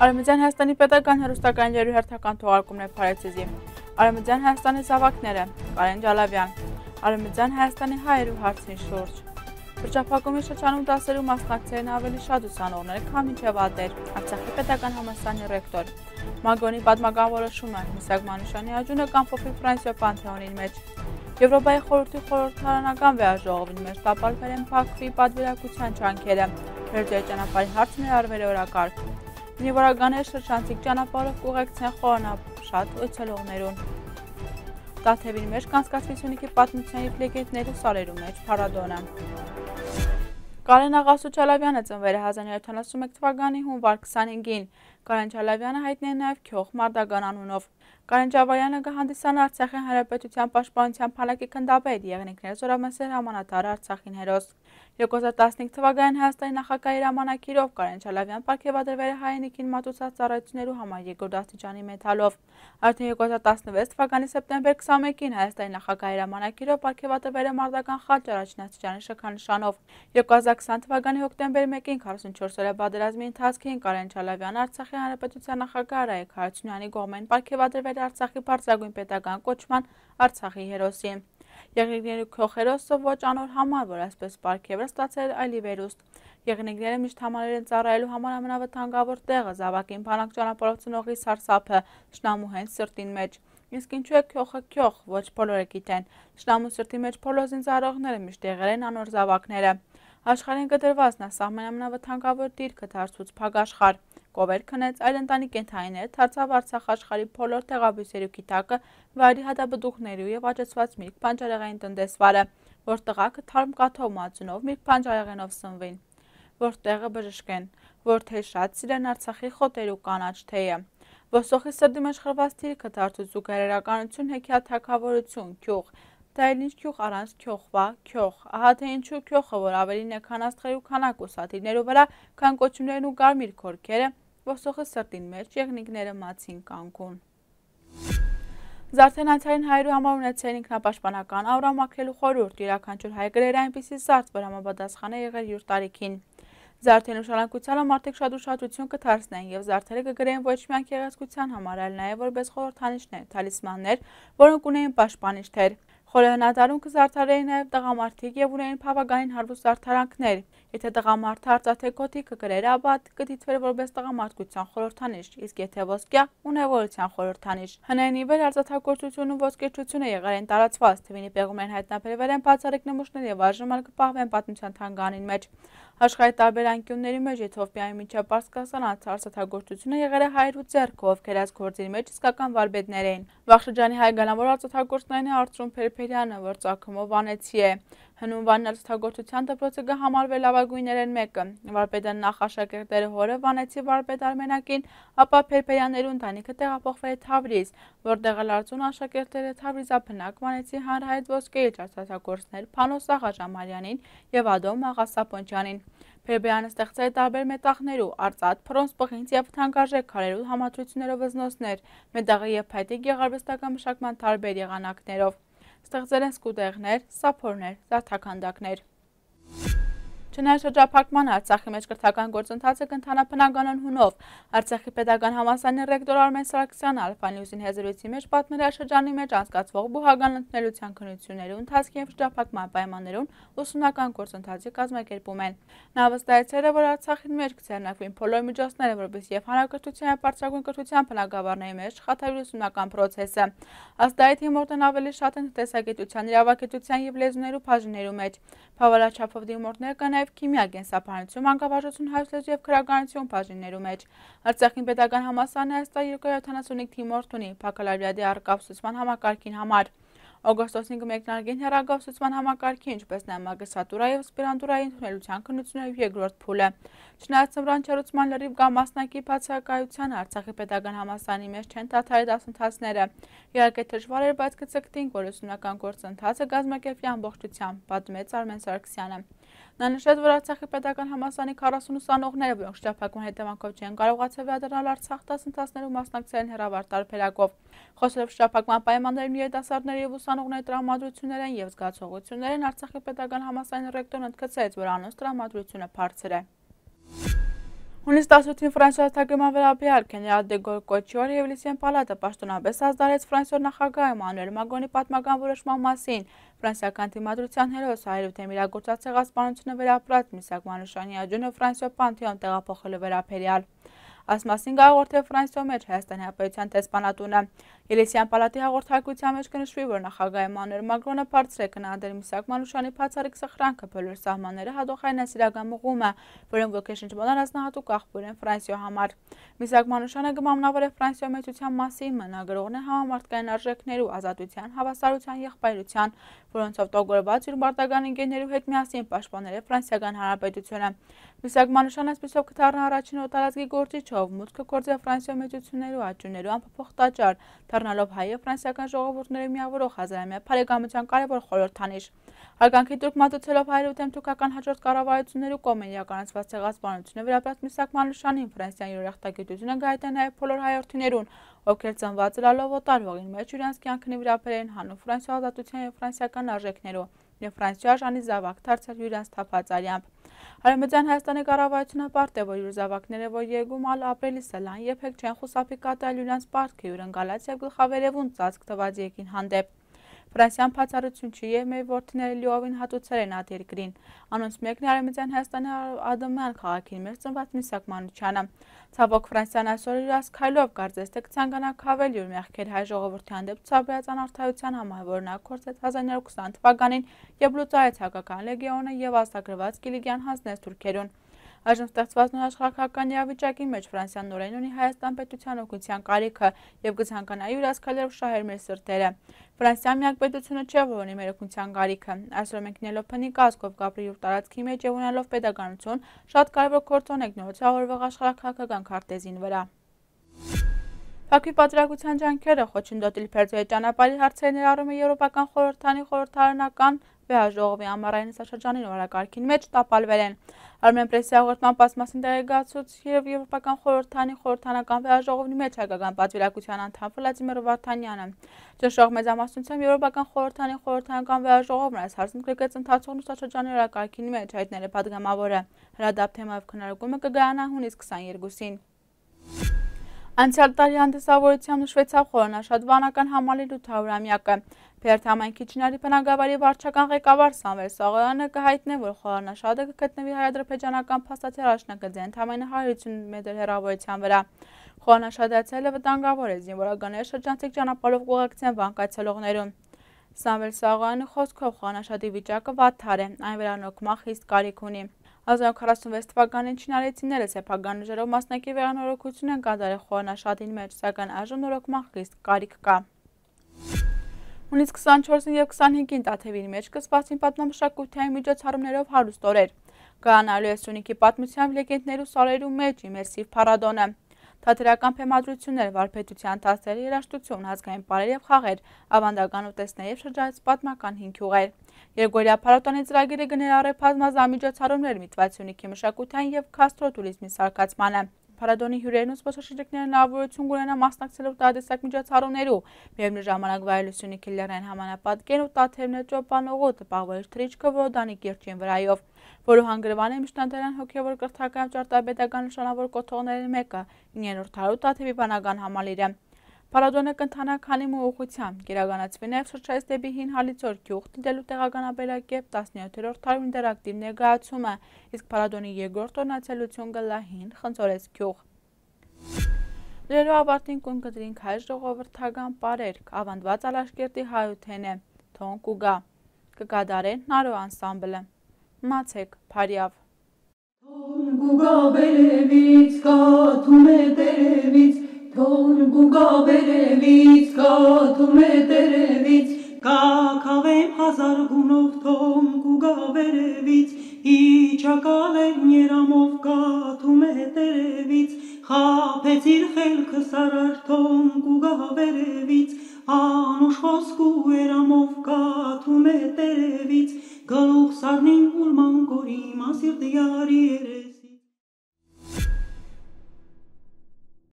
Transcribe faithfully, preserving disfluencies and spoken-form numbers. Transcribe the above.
Արևմտյան Հայաստանի պետական հեռուստակայանների հերթական թողարկումներ Փարեզի, Արևմտյան Հայաստանի զավակները, Կարեն Ջալավյան, Արևմտյան Հայաստանի հայերու հարցի շուրջ։ Շրջափակումի շրջանում դասերու մասնակցելն ավելի շատ ուսանողներ, քան մինչև ատեր, Արցախի պետական համալսարանի ռեկտոր։ Մագոնի պատմական որոշումը, Միսակ Մանուշյանի աջունը կանփոփի Ֆրանսիա Պանթեոնի մեջ։ Եվրոպայի խորհրդի խորհրդարանական վեաժողովին մեջ տապալվել են Բաքվի պատվիրակության ջանքերը, Բերձորի ճանապարհի հարցն ներառվել է օրակարգ։ Նիվարագաներ շրջանցիկ ճանապարհով կուղեկցեն խորանապաշտ այցելողներուն։ Տաթևին մեջ կանցկացվի Սյունիքի պատմության և լեգենդների սարերու մեջ փառատոնը։ Կարեն Աղասու Ջալավյանը ծնվել է հազար նորը յոթանասունմեկ թվականի հունվար քսանհինգին։ Կարեն Ջալավյանը հայտնի է նաև Քյոխ Մարդագան անունով։ Կարեն Ջալավյանը կհանդիսանա Արցախի Հանրապետության պաշտպանության բանակի քննադատի եղնիկներ զորամասեր հրամանատար Արցախին հերոս։ երկու հազար տասնհինգ թվականին Հայաստանի նախագահի հրամանագիրով Կարեն Ջալավյան պարգևատրվել է հայրենիքին մատուցած ծառայություններու համար երկրորդ աստիճանի մեդալով։ Արդեն երկու հազար տասնվեց թվականի սեպտեմբեր քսանմեկին Հայաստանի նախագահի հրամանագիրով պարգևատրվել է Մարտական խաչ առաջին աստիճանի շքանշանով։ երկու հազար քսան թվականի հոկտեմբեր մեկին քառասունչորս օրյա պատերազմի ընթացքին Կարեն Ջալավյանը Արցախի Հանրապետության նախագահ Արայք Հարությունյանի կողմեն պարգևատրվել է Արցախի բարձրագույն պետական կոչման Արցախի հերոսի։ Եղնիկների քյոխերոսը ոչ անոր համար, որ այսպես պարգևը ստացել այլ վերուստ։ Եղնիկները միշտ համարել են ծառայելու համար ամենավտանգավոր տեղը զավակին բանակ ճանապարհով ծնողի սարսափը, շնամու հենց սրտին մեջ։ Իսկ ինչու է քյոխը քյոխ, ոչ բոլորը գիտեն։ Շնամու սրտի մեջ բոլոր զինծառայողները միշտ եղել են անոր զավակները։ Աշխարհին կտրված նա սահման ամենավտանգավոր դիրքը դարձուց փագաշխար։ Կովեր քնեց այլ ընտանի կենդանիներ, դարձավ Արցախ աշխարհի բոլոր տեղաբույսերու գիտակը, վայրի հատապտուղներու եւ աճեցված միրգ բանջարեղեն տնտեսվարը, որ տղաքը թարմ կաթով մածունով միրգ բանջարեղենով սնվին, որ տեղը բժշկեն, որ թե շատ սիրեն Արցախի խոտերու կանաչ թեյը։ Ոսոխի սրտի մեջ խրված դիրքը դարձուց զուգահեռականություն, հեքիաթ թագավորություն, քյուղ։ Դա էլ ինչ քյուղ առանց քյոխվա, քյոխ, ահա թե ինչու քյոխը, որ ավելին է քան աստղերու քանակ ու սաթիրներու վրա, քան կոչումներն ու կարմիր քորքերը, ոսոխի սրտին մեջ եղնիկները մացին կանգուն։ Զարդեն անցյալին հայերու համար ունեցել ինքնապաշտպանական աուրա մաքրելու խորհուրդ, յուրաքանչյուր հայ գրեր այնպիսի զարդ, որ համապատասխան է եղել յուր տարիքին։ Զարդեն ուշադրությանը մարդիկ շատ ուշադրություն կդարձնեն եւ զարդերը կգրեն ոչ միայն գեղեցկության համար, այլ նաեւ որպես խորհրդանիշներ, թալիսմաններ, որոնք ունեին պաշտպանիչներ։ Խորհրդանատարում կզարդարեին նաև տղամարդիկ եւ ունեին բավականին հարուստ զարդարանքներ։ Եթե տղամարդը արծաթե կոթիկը գրեր, ապա կդիտվեր որպես տղամարդկության խորհրդանիշ, իսկ եթե ոսկյա, ունևորության խորհրդանիշ։ Հնային ի վեր արծաթագործությունն ու ոսկերչությունը եղել են տարածված, թվինի պեղումներն հայտնաբերվել են բացառիկ նմուշներ եւ այժմ էլ կպահվեն պատմության թանգարանին մեջ։ Աշխարհի տարբեր անկյունների մեջ Եթովպիայի միջև Պարսկաստան արծաթագործությունը եղել է հայերու ձեռքով, ովքեր այս գործի մեջ իսկական վարպետներ էին։ Վաղ շրջանի հայ գլամավոր արծաթագործներին է Արծրուն Փերփերյանը, որ ծագումով վանեցի է։ Հնուն Վանն արծաթագործության դպրոցը կհամարվի լավագույններեն մեկը։ Վարպետը նախ աշակերտները հորը վանեցի վարպետ Արմենակին, ապա Փերփերյաններու ընտանիքը տեղափոխվել է Թավրիզ, որտեղ էլ Արծրուն աշակերտները Թավրիզաբնակ վանեցի հանրահայտ ոսկեի արծաթագործներ Փանոս Աղա Ժամալյանին եւ Ադոմ Աղա Սապոնջյանին։ Փերփերյանը ստեղծել է տարբեր մետաղներու, արծաթ, բրոնզ, պղինձ եւ թանկարժեք քարերու համադրություններով վզնոցներ, մետաղի եւ փայտի գեղարվեստական մշակման տարբեր եղանակներով։ Ստեղծել են սկուտեղներ, սափորներ, զարդաքանդակներ։ Չնայած շրջափակմանը Արցախի մեջ կրթական գործընթացը կընթանա բնականon հունով, Արցախի պետական համալսարանի ռեկտոր Արմեն Սարգսյանը Ալֆա Նյուզին հեզրույթի մեջ պատմել է շրջանի մեջ անցկացվող բուհական ընդունելության քննությունների ընթացքի եւ շրջափակման պայմաններուն ուսումնական գործընթացի կազմակերպում են։ Նա վստահեցրել է, որ Արցախին մեջ կձեռնարկվին բոլոր միջոցները, որպեսզի եւ հանրակրթության եւ բարձրագույն կրթության բնագավառների մեջ շղթայր ուսումնական process-ը։ Ըստ այդ հիմորդն ավելի շատ են տնտեսագիտության, իրավագիտության եւ լեզուներու բաժիններու մեջ։ Բավարարչափով դիմորդներ կան նաև քիմիա, կենսաբանություն, մանկավարժություն, հայոց լեզու եւ քրագանություն բաժիններու մեջ։ Արցախի պետական համալսարանը այս տարի երկու հազար յոթանասունհինգ թիմորդ ունի բակալավրիատի առկայացուցման համակարգին համար։ Օգոստոսին կմեկնարկեն հեռագործման համակարգի, ինչպես նաև մագիստրատուրա եւ ասպիրանտուրայի ընդունելության քննությունների երկրորդ փուլը։ Չնայած ծմրան չերուցման լրիվ կամ մասնակի բացակայությանը Արցախի պետական համալսարանի մեջ չեն դադարել դասընթացները։ Իհարկե դժվար էր, բայց կցկտինք, որ ուսումնական գործընթացը կազմակերպվի ամբողջությամբ, պատմեց Արմեն Սարգսյանը։ Նա նշեց, որ Արցախի պետական համալսարանի քառասուն ուսանողները, որոնք շրջափակման հետևանքով չեն կարողացել վերադառնալ Արցախ, դասընթացներու մասնակցել են հեռավար տարբերակով։ Խոսելով շրջափակման պայմաններում երիտասարդների եւ ուսանողների տրամադրություններն եւ զգացողություններն, Արցախի պետական համալսարանի ռեկտորն ընդգծեց, որ անոնց տրամադրությունը բարձր է։ Հունիս տասութին Ֆրանսիոս թագման վերաբերյալ գեներալ դե Գոլ կոչյորը և Լիսիան պալատը պաշտոնապես ազդարեց Ֆրանսիոս նախագահ Էմանուել Մակրոնի պատմական որոշման մասին։ Ֆրանսիական դիմադրության հերոս հայրութեմ իրագործած ցեղասպանությունը վերապրած Միսակ Մանուշյանի աճյունը Ֆրանսիոս Պանթեոն տեղափոխելու վերաբերյալ։ Այս մասին գաղորդել Ֆրանսիո մեջ Հայաստանի Հանրապետության տեսփանատունը։ Ելիսյան պալատի հաղորդակցության մեջ կնշվի, որ նախագահ Էմանուել Մակրոնը բարձր է գնահատել Միսակ Մանուշյանի բացառիկ սխրանքը բոլոր սահմանները հատողային այսիրական մղումը, որոնք ոգեշնչման առանձնահատուկ աղբյուր են Ֆրանսիո համար։ Միսակ Մանուշյանը կմատնավոր է Ֆրանսիո մեծության մասին, մնագրողն է համամարտկային արժեքներու, ազատության, հավասարության, եղբայրության, որոնցով տոգորված իր մարտական ընկերներու հետ միասին պաշտպանել է Ֆրանսիական Հանրապետությունը։ Միսակ Մանուշյանը այսպիսով կդառնա առաջին օտարածքի գործիչով, մուտքը գործել Ֆրանսիո մեծություններու աճյուններու անփոփոխ տաճար, դառնալով հայ և ֆրանսիական ժողովուրդների միավորող հազարամյա բարեկամության կարևոր խորհրդանիշ։ Հարգանքի տուրք մատուցելով հայրութեմ թուրքական հաջորդ կառավարություններու կողմից իրականացված ցեղասպանությունը վերապրած Միսակ Մանուշյանին Ֆրանսիան իր ուրախտագիտությունը գայթ է նաև բոլոր հայրենիներուն, ովքեր ծնված լալով օտարվողին մեջ իրենց կյանքն վիրապերեն հանուն Ֆրանսիո ազատության և ֆրանսիական արժեքներու և Ֆրանսիո արժանի զավակ դարձել իրենց թափած արյամբ։ Արևմտյան Հայաստանի կառավարությունը պարտ է, որ իր զավակները, որ երկում ալ ապրելիս լան երբեք չեն խուսափի կատարել իրենց պարտքը հյուրընկալած և գլխավերևուն ծածկ տված երկին հանդեպ։ Ֆրանսիան բացառություն չի և մեր որդիները լիովին հատուցել են այդ երկրին։ Անոնց մեկն է Արևմտյան Հայաստանի Ադամյան քաղաքին մեր ծնված Միսակ Մանուչյանը։ Ցավոք Ֆրանսիան այսօր իր ասքայլով կարծես թե կցանկանա քավել իր մեղքեր հայ ժողովրդի հանդեպ ցուցաբերած անարդարության համար, որ նա կործեց հազար իննյակ ութ թվականին և լուծարեց հայկական լեգիոնը և ազատագրված Կիլիկիան հանձնեց թուրքերուն։ Այժմ ստեղծված նոր աշխարհական իրավիճակի մեջ Ֆրանսիան նորեն ունի Հայաստան պետության օգնության կարիքը և կցանկանա իր ասքայլերով շահել մեր սրտերը։ Ֆրանսիան միակ պետությունը չէ, որ ունի մեր օգնության կարիքը։ Այսօր մենք նելով փնի կազգով կապրի յուր տարածքի մեջ և ունենալով պետականություն, շատ կարևոր գործ ունենք նոր ցավորվող աշխարհաքաղաքական քարտեզին վրա։ Բաքվի պատրաստության ջանքերը խոչընդոտել Փերձոյի ճանապարհի հարցերը ներառում է Եվրոպական խորհրդանի խորհրդարանական վեհաժողովի ամառային նստաշրջանին օրակարգին մեջ տապալվել են։ Արմեն պրեսի հաղորդման պասմասին տեղեկացուց և Եվրոպական խորհրդանի խորհրդանական վեհաժողովի մեջ հայկական պատվիրակության անդամ Վլադիմիր Վարդանյանը։ Ճնշող մեծամասնությամբ Եվրոպական խորհրդանի խորհրդանական վեհաժողովն այս հարցն գրկեց ընթացող նստաշրջանի օրակարգին մեջ, հայտնել է պատգամավորը։ Հրադապ թեմայով քննարկումը կգայանա հունիս քսաներկուսին։ Անցյալ տարի հանդիսավորությամբ նշվեցավ խորանաշատ վանական համալիրի ութ-ամյակը։ Բերդ համայնքի Չինարի բնակավարի վարչական ղեկավար Սամվել Սաղոյանը կհայտնի, որ խորանաշատը կգտնվի հայ-ադրբեջանական փաստաթղթի առաջնագծի ընդամենը հարյուր ութսուն մետր հեռավորության վրա։ Խորանաշատը այցելելը վտանգավոր է, զինվորականները շրջանցիկ ճանապարհով կուղեկցեն վանք այցելողներուն։ Սամվել Սաղոյանի խոսքով խորանաշատի վիճակը վատթար է, այն վերանորոգման խիստ կարիք ունի։ հազար իննյակ հարյուր քառասունվեց թվականին չինարեցիները սեփական ուժերով մասնակի վերանորոգություն են կատարել խորանաշատին մեջ, սակայն այժմ նորոգման խիստ կարիք կա։ Հունիս քսանչորսին և քսանհինգին Տաթևի մեջ կսկսվեցին պատմամշակութային միջոցառումներով հարուստ օրեր։ Կայանալու է Սյունիքի պատմությամբ լեգենդներու սարերու մեջ իմերսիվ փառատոնը։ Թատերական փեմադրություններ, վարպետության դասեր, երաժշտություն, ազգային պարեր և խաղեր, ավանդական ուտեստներ և շրջայց պատմական հինգ յուղեր։ Երկօրյա փառատոնի ծրագիրը կներառե բազմազան միջոցառումներ միտված Սյունիքի մշակութային և գաստրոտուրիզմի զարգացմանը։ Փառատոնի հյուրերն ու զբոսաշրջիկները հնարավորություն կունենան մասնակցելու տարատեսակ միջոցառումներու, միևնույն ժամանակ վայելելու Սյունիքի լեռնային համանապատկերն ու Տաթևներ ճոպանուղու տպավորիչ թռիչքը Որոդանի կիրճին վրայով, որը հանգրվան է միջնադարյան հոգևոր կրթական ճարտարապետական նշանավոր կոթողների մեկը՝ իններորդ դարու Տաթևի վանական համալիրը։ Փառատոնը կընթանա քանի մը ուղղությամբ, կիրականացվի նաև շրջայց դեպի Հին Հալիձոր գյուղ դիտելու տեղական ապրելակերպ տասնյոթերորդ դարու ինտերակտիվ ներկայացումը, իսկ փառատոնի երկրորդ օրն այցելություն կլա Հին Խնձորես գյուղ։ Լրելու ավարտին կուն կդրինք հայ ժողովրդական պարերք, ավանդված Ալաշկերտի հայութեն է, թոն կուգա, կկատարեն Նարո անսամբլը։ Մացեք Փարյավ։ Թոն կուգա վերևից, կաթում է տերևից, թոն կուգա վերևից, կաթում է տերևից, կակավեմ հազար գունով, թոն կուգա վերևից, իջակալեն երամով, կաթում է տերևից, խապեցիր խելքը սարար, թոն կուգա վերևից, անուշ խոսք ու երամով, կաթում է տերևից, գլուխ սարնին ուրման կորի, մասիրտ յարի երես,